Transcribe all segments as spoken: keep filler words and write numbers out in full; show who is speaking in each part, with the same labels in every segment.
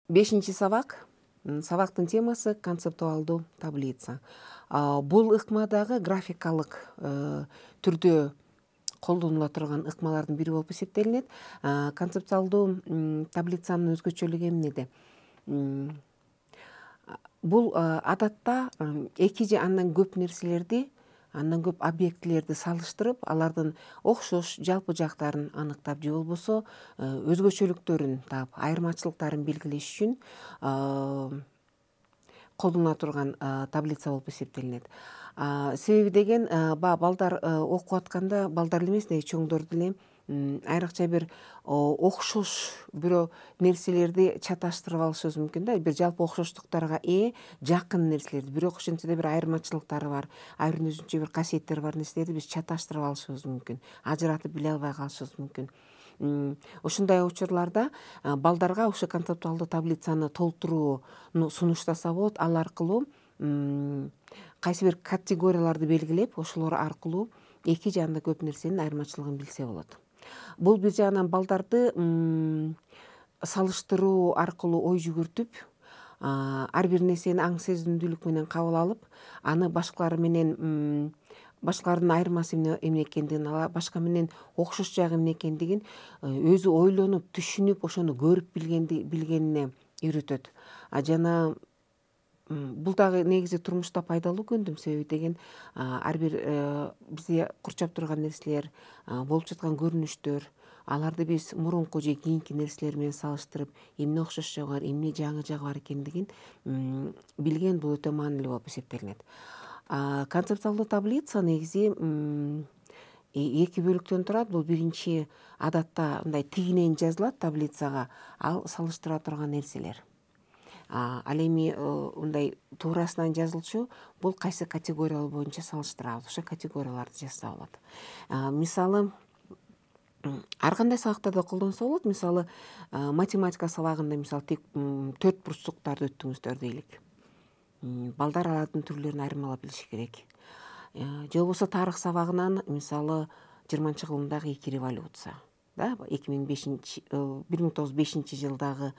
Speaker 1: Бешинчи сабак. Сабактын темасы концептуалдуу таблица. Бул ыкма дагы графикалык түрдө колдонула турган ыкмалардын бири болуп эсептелинет. Концептуалдуу таблицанын өзгөчөлүгү эмнеде? Бул адатта эки же андан көп нерселерди, андан көп объектилерди салыштырып, алардын окшош жалпы жактарын аныктап же болбосо өзгөчөлүктөрүн таап, айырмачылыктарын белгилеш үчүн колдонула турган таблица болуп эсептелинет. Себеби деген баягы балдар окуп атканда, балдар эле эмес, чоңдор деле айрыкча бир окшош бирөө нерселерди чаташтырып алышыбыз мүмкүн да, бир жалпы окшоштуктарга ээ жакын нерселерди, бирок ошентсе да бир айырмачылыктары бар, ар биринин өзүнчө бир касиеттери бар нерселерди биз чаташтырып алышыбыз мүмкүн, ажыратып биле албай калышыбыз мүмкүн. Ушундай учурларда балдарга ошо концептуалдуу таблицаны толтурууну сунуштаса болот. Ал аркылуу кайсы бир категорияларды белгилеп, ошолор аркылуу эки же андан көп нерсенин айырмачылыгын билсе болот. Бул бир жагынан балдарды салыштыруу аркылуу ой жүгүртүп, ар бир нерсени аң сезимдүүлүк менен кабыл алып, аны башкалар менен, башкалардын айырмасы эмне экендигин, башка менен окшош жагы эмне экендигин өзү ойлонуп, түшүнүп, ошону көрүп билгенине үйрөтөт. Жана бул дагы негизи турмушта пайдалуу көндүм. Себеби деген ар бир бизди курчап турган нерселер, болуп жаткан көрүнүштөр, аларды биз мурунку же кийинки нерселер менен салыштырып, эмне окшош жагы бар, эмне жаңы жагы бар экендигин билген бул өтө маанилүү болуп эсептелинет. Концептуалдуу таблица негизи эки бөлүктөн турат. Бул биринчи адатта мындай тигинен жазылат таблицага, ал салыштыра турган нерселер. Ал эми мындай туурасынан жазылчу бул кайсы категориялар боюнча салыштырабыз, ошо категорияларды жазса болот. Мисалы, ар кандай сабактарда колдонсо болот. Мисалы, математика сабагында мисалы тек төрт бурчтуктарды өттүңүздөр дейли. Балдар алардын түрлөрүн айырмалап билиши керек. Же болбосо тарых сабагынан мисалы жыйырманчы кылымдагы эки революция, да, эки миң бешинчи бир миң тогуз жүз бешинчи жылдагы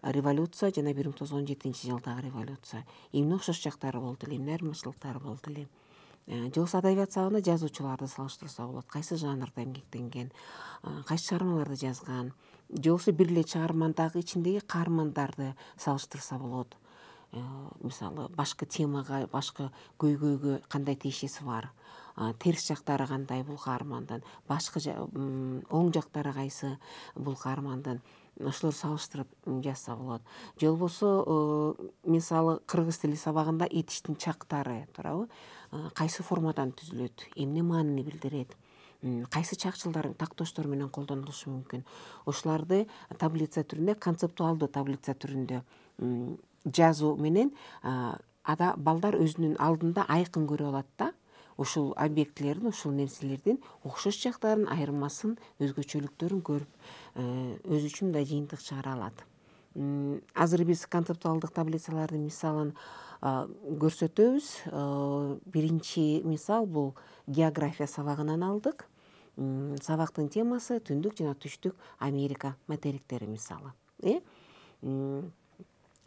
Speaker 1: революция жана бир миң тогуз жүз он жетинчи жылдагы революция. Эмне окшош жактары болду эле, эмне айырмачылыктары болду эле. Же болбосо адабият сабагында жазуучуларды салыштырса болот. Кайсы жанрда эмгектенген, кайсы чыгармаларды жазган. Же болбосо бир эле чыгармадагы ичиндеги каармандарды салыштырса болот. Мисалы, башкы темага, башкы көйгөйгө кандай тиешеси бар, терс жактары кандай бул каармандын, башкы оң жактары кайсы бул каармандын, ошолорду салыштырып жазса болот. Же болбосо мисалы кыргыз тили сабагында этиштин чактары туурабы, кайсы формадан түзүлөт, эмне маанини билдирет, кайсы чакчылдар, тактоштор менен колдонулушу мүмкүн. Ошолорду таблица түрүндө, концептуалдуу таблица түрүндө жазуу менен балдар өзүнүн алдында айкын көрө алат да, ушул объектилердин, ушул нерселердин окшош жактарын, айырмасын, өзгөчөлүктөрүн көрүп өзү үчүн мындай жыйынтык чыгара алат. Азыр биз концептуалдык таблицалардын мисалын көрсөтөбүз. Биринчи мисал бул география сабагынан алдык. Сабактын темасы түндүк жана түштүк Америка материктери мисалы.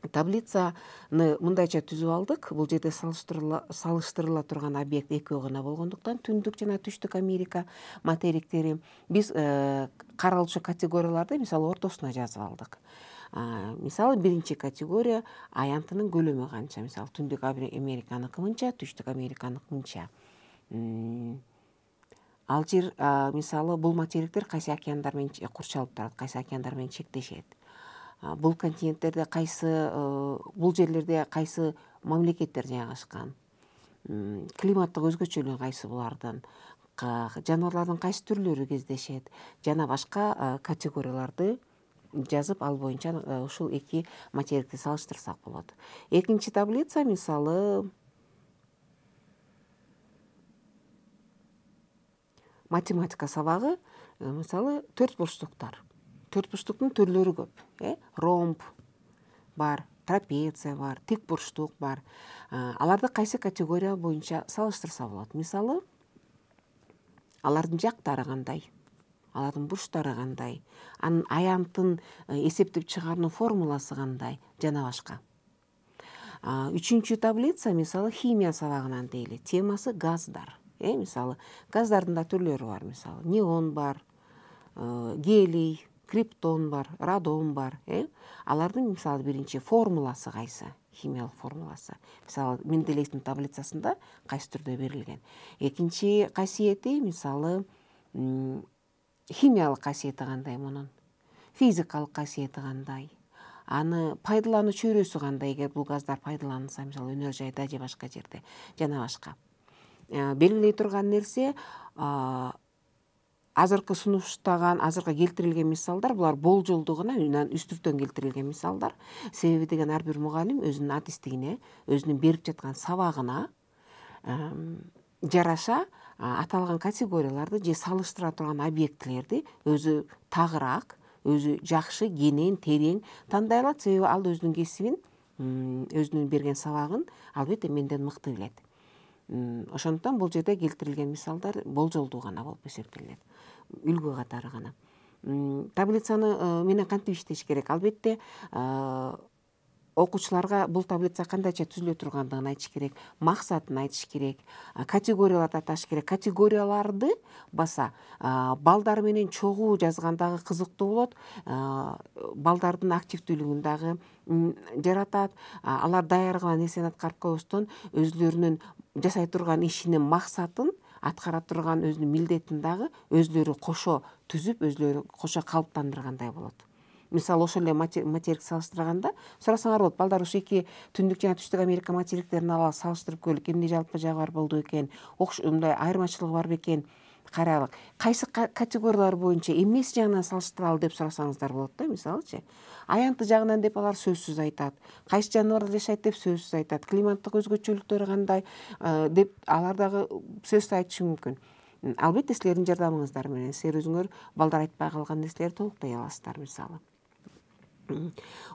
Speaker 1: Таблицаны мындайча түзүп алдык. Бул жерде салыштырыла турган объект экөө гана болгондуктан түндүк жана түштүк Америка материктери. Биз каралчу категорияларды мисалы ортосуна жазып алдык. Мисалы биринчи категория аянтынын көлөмү канча. Мисалы түндүк Американыкы мынча, түштүк Американыкы мынча. Ал жер мисалы бул материктер кайсы океандар менен курчалып турат, кайсы океандар менен чектешет. Бул континенттерде кайсы, бул жерлерде кайсы мамлекеттер жайгашкан, климаттык өзгөчөлүгү кайсы булардын, жаныбарлардын кайсы түрлөрү кездешет жана башка категорияларды жазып, ал боюнча ушул эки материкти салыштырсак болот. Экинчи таблица мисалы математика сабагы, мисалы төрт бурчтуктар. Төрт бурчтуктун түрлөрү көп. Ромб бар, трапеция бар, тик бурчтук бар. Аларды кайсы категория боюнча салыштырса болот. Мисалы, алардын жактары кандай? алардын бурчтары кандай, анын аянтын эсептеп чыгаруунун формуласы кандай жана башка. Үчүнчү таблица мисалы химия сабагынан дейли. Темасы газдар. Э, мисалы газдардын да түрлөрү бар. Мисалы неон бар, гелий, криптон бар, радон бар. Э, алардын мисалы биринчи формуласы кайсы? Химиялык формуласы. Мисалы Менделеевдин таблицасында кайсы түрдө берилген. Экинчи касиети мисалы химиялык касиети кандай мунун, физикалык касиети кандай, аны пайдалануу чөйрөсү кандай, эгер бул газдар пайдаланылса, мисалы өнөр жайда же башка жерде жана башка. Белгилей турган нерсе, азыркы сунуштаган, азыркы келтирилген мисалдар булар болжолдуу гана, үстүртөн келтирилген мисалдар. Себеби деген ар бир мугалим өзүнүн адистигине, өзүнүн берип жаткан сабагына жараша аталган категорияларды же салыштыра турган объектилерди өзү тагыраак, өзү жакшы, кенен, терең тандай алат. Себеби ал өзүнүн кесибин, өзүнүн берген сабагын албетте менден мыкты билет. Ошондуктан бул жерде келтирилген мисалдар болжолдуу гана болуп эсептелет, үлгү катары гана. Таблицаны менен кантип иштеш керек? Албетте окуучуларга бул таблица кандайча түзүлө тургандыгын айтыш керек, максатын айтыш керек, категорияларды аташ керек. Категорияларды баса балдар менен чогуу жазгандагы кызыктуу болот, балдардын активдүүлүгүн дагы жаратат. Алар даяргала нерсени аткарып койбостон өзлөрүнүн жасай турган ишинин максатын, аткара турган өзүнүн милдетин дагы өзлөрү кошо түзүп, өзлөрү кошо калыптандыргандай болот. Мисалы ошол эле материк салыштырганда сурасаңар болот, балдар ушу эки түндүк жана түштүк Америка материктерин алып салыштырып көрөлүк, эмне жалпы жагы бар болду экен, мындай айырмачылыгы бар бекен, карайлык. Кайсы категориялар боюнча эмнеси жагынан салыштыралы деп сурасаңыздар болот да, мисалычы. Аянты жагынан деп алар сөзсүз айтат. Кайсы жаныбарлар жашайт деп сөзсүз айтат. Климаттык өзгөчөлүктөрү кандай деп алар дагы сөзсүз айтышы мүмкүн. Албетте силердин жардамыңыздар менен силер өзүңөр балдар айтпай калган нерселерди толуктай аласыздар мисалы.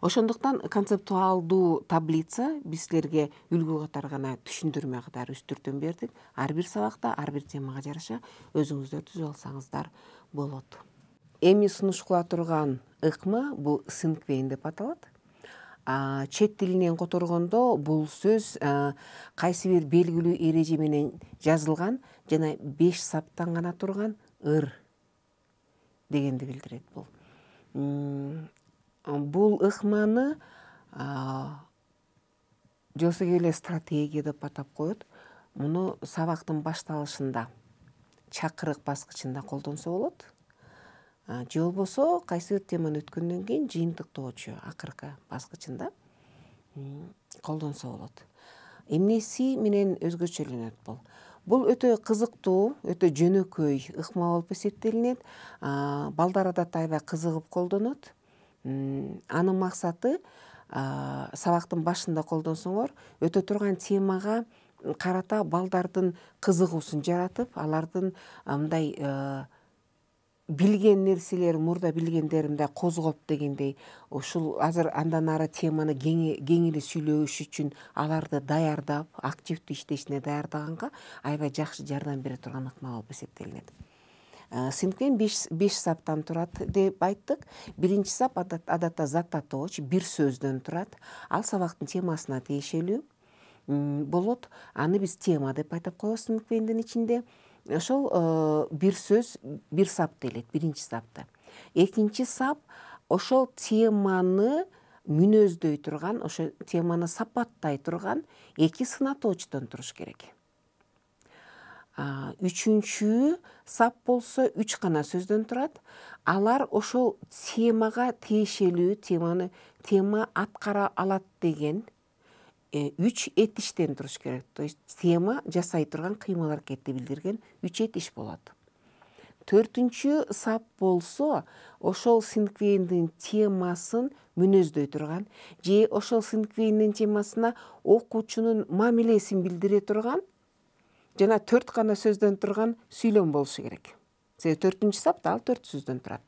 Speaker 1: Ошондуктан концептуалдуу таблица биз силерге үлгү катары гана түшүндүрмө катары үстүртөн бердик. Ар бир сабакта, ар бир темага жараша өзүңүздөр түзүп алсаңыздар болот. Эми сунуш кыла турган ыкма бул синквейн деп аталат. Чет тилинен которгондо бул сөз кайсы бир белгилүү эреже менен жазылган жана беш саптан гана турган ыр дегенди билдирет бул. Бул ыкманы жосо эле стратегия деп атап коет. Муну сабактын башталышында, чакырык баскычында колдонсо болот. Же болбосо кайсы бир теманы өткөндөн кийин жыйынтыктоочу акыркы баскычында колдонсо болот. Эмнеси менен өзгөчөлөнөт бул? Бул өтө кызыктуу, өтө жөнөкөй ыкма болуп эсептелинет. Балдар адатта аябай кызыгып колдонот. Анын максаты сабактын башында колдонсоңор өтө турган темага карата балдардын кызыгуусун жаратып, алардын мындай билген нерселер, мурда билгендерин мындай козгоп дегендей, ушул азыр андан ары теманы кең эле сүйлөш үчүн аларды даярдап, активдүү иштешине даярдаганга аябай жакшы жардам бере турган ыкма болуп эсептелинет. Синквейн беш саптан турат деп айттык. Биринчи сап адатта зататооч, бир сөздөн турат. Ал сабактын темасына тиешелүү болот. Аны биз тема деп айтып коебуз синквейндин ичинде. Ошол бир сөз, бир сап делет, биринчи сапты. Экинчи сап ошол теманы мүнөздөй турган, ошол теманы сапаттай турган эки сынатоочтон туруш керек. Үчүнчү сап болсо үч гана сөздөн турат. Алар ошол темага тиешелүү, теманы тема аткара алат деген үч этиштен туруш керек. То есть тема жасай турган кыймыл аракетти билдирген үч этиш болот. Төртүнчү сап болсо ошол синквейндин темасын мүнөздөй турган же ошол синквейндин темасына окуучунун мамилесин билдире турган жана төрт гана сөздөн турган сүйлөм болушу керек. Себеби төртүнчү сапта ал төрт сөздөн турат.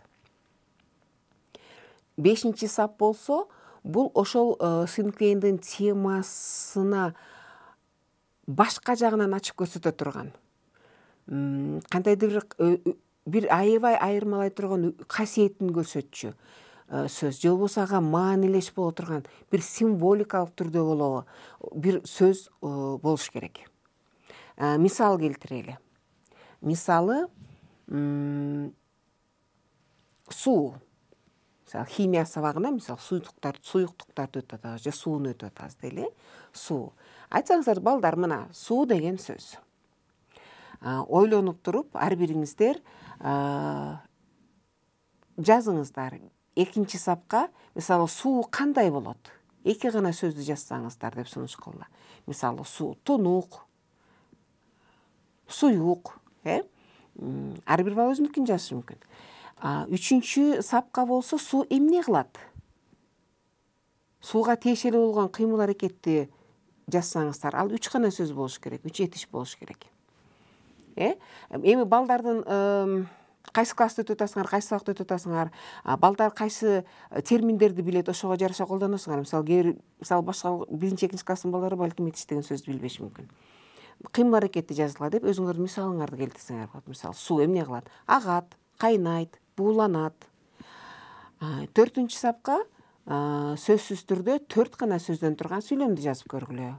Speaker 1: Бешинчи сап болсо бул ошол синквейндин темасына башка жагынан ачып көрсөтө турган, кандайдыр бир бир аябай айырмалай турган касиетин көрсөтчү сөз же болбосо ага маанилеш боло турган бир символикалык түрдө болобу бир сөз болуш керек. Мисал келтирели. Мисалы суу. Мисалы химия сабагына мисалы суюктуктар, суюктуктарды өтүп атабыз же сууну өтүп атабыз дейли. Суу. Айтсаңыздар балдар, мына суу деген сөз. Ойлонуп туруп ар бириңиздер жазыңыздар. Экинчи сапка мисалы суу кандай болот? Эки гана сөздү жазсаңыздар деп сунуш кылды. Мисалы суу тунук, суюк, э? Ар бир бала өзүнүкүн жазышы мүмкүн. Үчүнчү сапка болсо суу эмне кылат? Сууга тиешелүү болгон кыймыл аракетти жазсаңыздар, ал үч гана сөз болуш керек, үч этиш болуш керек. Э? Эми балдардын кайсы классты өтүп атасыңар, кайсы сабакты өтүп атасыңар, балдар кайсы терминдерди билет, ошого жараша колдоносуңар. Мисалы кээ бир мисалы башка биринчи, экинчи класстын балдары балким этиш деген сөздү билбеши мүмкүн. Кыймыл аракетти жазгыла деп өзүңөрдүн мисалыңарды келтирсеңер болот. Мисалы суу эмне кылат? Агат, кайнайт, бууланат. Төртүнчү сапка сөзсүз түрдө төрт гана сөздөн турган сүйлөмдү жазып көргүлө.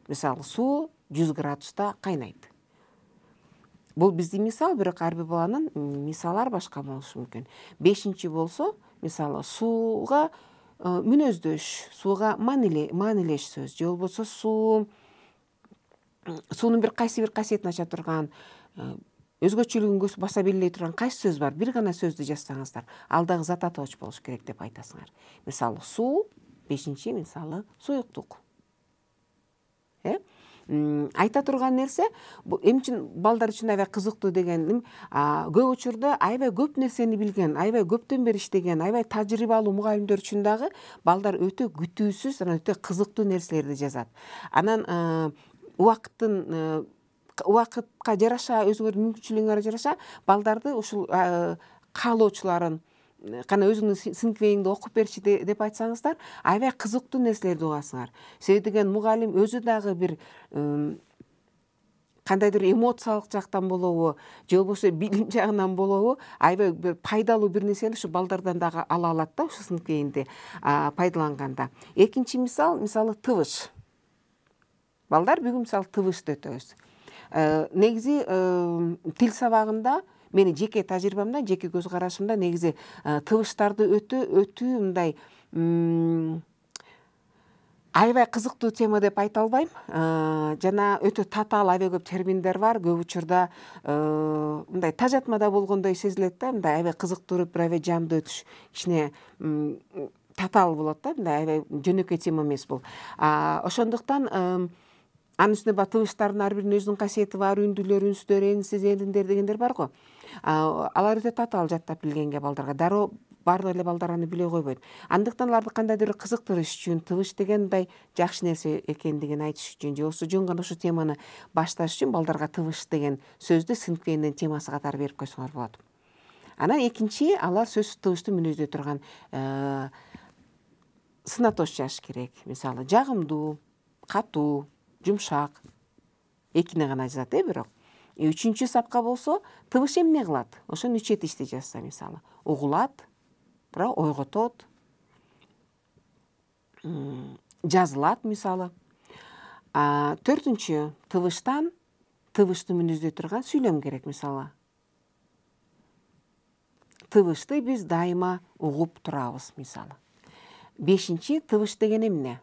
Speaker 1: Мисалы суу жүз градуста кайнайт. Бул биздин мисал, бирок ар бир баланын мисалы ар башка болушу мүмкүн. Бешинчи болсо, мисалы сууга мүнөздөш, сууга маанилеш сөз же болбосо суу суунун бир кайсы бир касиетин ача турган, өзгөчөлүгүн баса белгилей турган кайсы сөз бар? Бир гана сөздү жазсаңыздар, ал дагы зат атоочу болуш керек деп айтасыңар. Мисалы суу, бешинчи мисалы суюктук. Э? Айта турган нерсе, эми үчүн балдар үчүн аябай кызыктуу дегеним, көп учурда аябай көп нерсени билген, аябай көптөн бери иштеген, аябай тажрыйбалуу мугалимдер үчүн дагы балдар өтө күтүүсүз, анан өтө кызыктуу нерселерди жазат. Анан убакыттын убакытка жараша, өзүңөрдүн мүмкүнчүлүгүңөргө жараша балдарды ушул каалоочуларын кана өзүңүздүн сынквейиңди окуп берчи деп айтсаңыздар, аябай кызыктуу нерселерди угасыңар. Себеби деген мугалим өзү дагы бир кандайдыр эмоциялык жактан болобу, же болбосо билим жагынан болобу, аябай бир пайдалуу бир нерсени ушу балдардан дагы ала алат да, ушу сынквейинди пайдаланганда. Экинчи мисал, мисалы тыбыш. Балдар, бүгүн мисалы тыбышты өтөбүз. Негизи тил сабагында мени жеке тажрыйбамда, жеке көз карашымда негизи тыбыштарды өтө өтүү мындай аябай кызыктуу тема деп айта албайм. Жана өтө татаал аябай көп терминдер бар. Көп учурда мындай тажатмада болгондой сезилет да, мындай аябай кызыктырып, бир аябай жамдуу өтүш кичине татаал болот да, мындай аябай жөнөкөй тема эмес бул. Ошондуктан анын үстүнө баягы тыбыштардын ар биринин өзүнүн касиети бар, үндүлөр, үнсүздөр, энсиз, элиндер дегендер бар го. Алар өтө татаал жаттап билгенге балдарга дароо баардык эле балдар аны биле койбойт. Андыктан аларды кандайдыр бир кызыктырыш үчүн, тыбыш деген мындай жакшы нерсе экендигин айтыш үчүн же болбосо жөн гана ушул теманы башташ үчүн балдарга тыбыш деген сөздү сынквейиндин темасы катары берип койсоңор болот. Анан экинчи, алар сөз тыбышты мүнөздөй турган сын атош жазыш керек. Мисалы жагымдуу, катуу, жумшак. Экини гана жазат, э, бирок. Үчүнчү сапка болсо, тыбыш эмне кылат? Ошону үч этишти жазса, мисалы, угулат, бирок ойготот, жазылат, мисалы. Төртүнчү, тыбыштан тыбышты мүнөздөй турган сүйлөм керек, мисалы. Тыбышты биз дайыма угуп турабыз, мисалы. Бешинчи, тыбыш деген эмне?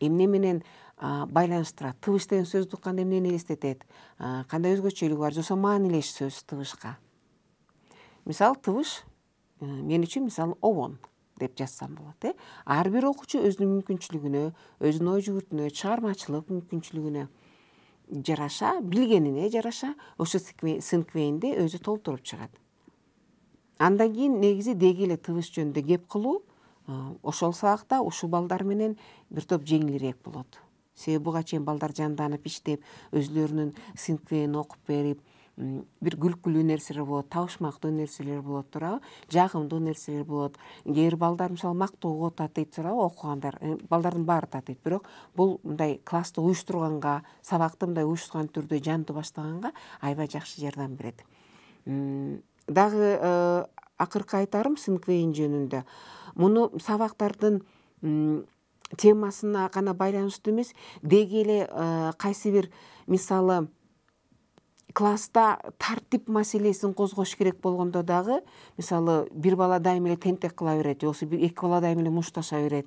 Speaker 1: Эмне менен байланыштырат? Тыбыш деген сөздү укканда эмнени элестетет? Кандай өзгөчөлүгү бар? Жосо маанилеш сөз тыбышка. Мисалы, тыбыш мен үчүн мисалы обон деп жазсам болот, э? Ар бир окуучу өзүнүн мүмкүнчүлүгүнө, өзүнүн ой жүгүртүнө, чыгармачылык мүмкүнчүлүгүнө жараша, билгенине жараша ошо сынквейинди өзү толтуруп чыгат. Андан кийин негизи деги эле тыбыш жөнүндө кеп кылуу ошол сабакта ушул балдар менен бир топ жеңилирээк болот. Себеби буга чейин балдар жанданып иштеп, өзлөрүнүн сынквейин окуп берип, бир күлкүлүү нерселер болот, табышмактуу нерселер болот, туурабы? Жагымдуу нерселер болот. Кээ бир балдар мисалы мактоого татыйт, туурабы? Окугандар, балдардын баары татыйт, бирок бул мындай классты уюштурганга, сабакты мындай уюштурган түрдө жандуу баштаганга аябай жакшы жардам берет. дагы акыркы айтарым синквейн жөнүндө. Муну сабактардын темасына гана байланыштуу эмес, деги эле кайсы бир мисалы класста тартип маселесин козгош керек болгондо дагы, мисалы бир бала дайыма эле тентек кыла берет, же болбосо бир эки бала дайыма эле мушташа берет.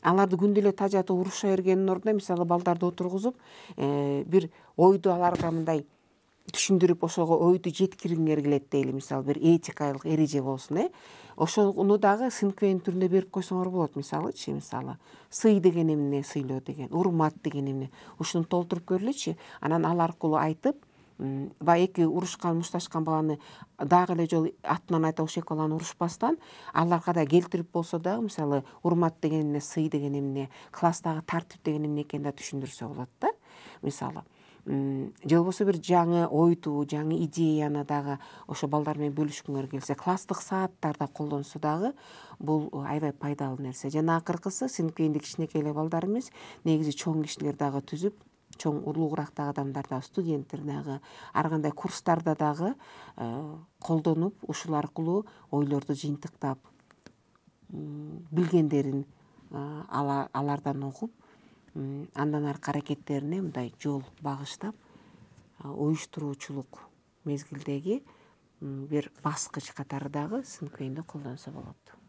Speaker 1: Аларды күндө эле тажатып уруша бергендин ордуна мисалы балдарды отургузуп бир ойду аларга мындай түшүндүрүп, ошого ойду жеткиргиңер келет дейли, мисалы бир этикалык эреже болсун, э ошону дагы синквейн түрүндө берип койсоңор болот. Мисалычы, мисалы сый деген эмне, сыйлоо деген, урмат деген эмне, ушуну толтуруп көрүлөчү. Анан ал аркылуу айтып, баягы эки урушкан, мушташкан баланы дагы эле жолу атынан айта, ошол эки баланы урушпастан аларга да келтирип болсо дагы, мисалы урмат деген эмне, сый деген эмне, класстагы тартип деген эмне экенин да түшүндүрсө болот да, мисалы. Же болбосо бир жаңы ойду, жаңы идеяны дагы ошо балдар менен бөлүшкүңөр келсе, класстык сааттарда колдонсо дагы бул аябай пайдалуу нерсе. Жана акыркысы, синквейнди кичинекей эле балдар эмес, негизи чоң кишилер дагы түзүп, чоң улуугурактагы адамдар дагы, студенттер дагы, ар кандай курстарда дагы колдонуп, ушул аркылуу ойлорду жыйынтыктап, билгендерин алардан угуп, андан аркы аракеттерине мындай жол багыштап, уюштуруучулук мезгилдеги бир баскыч катары дагы синквейнди колдонсо болот.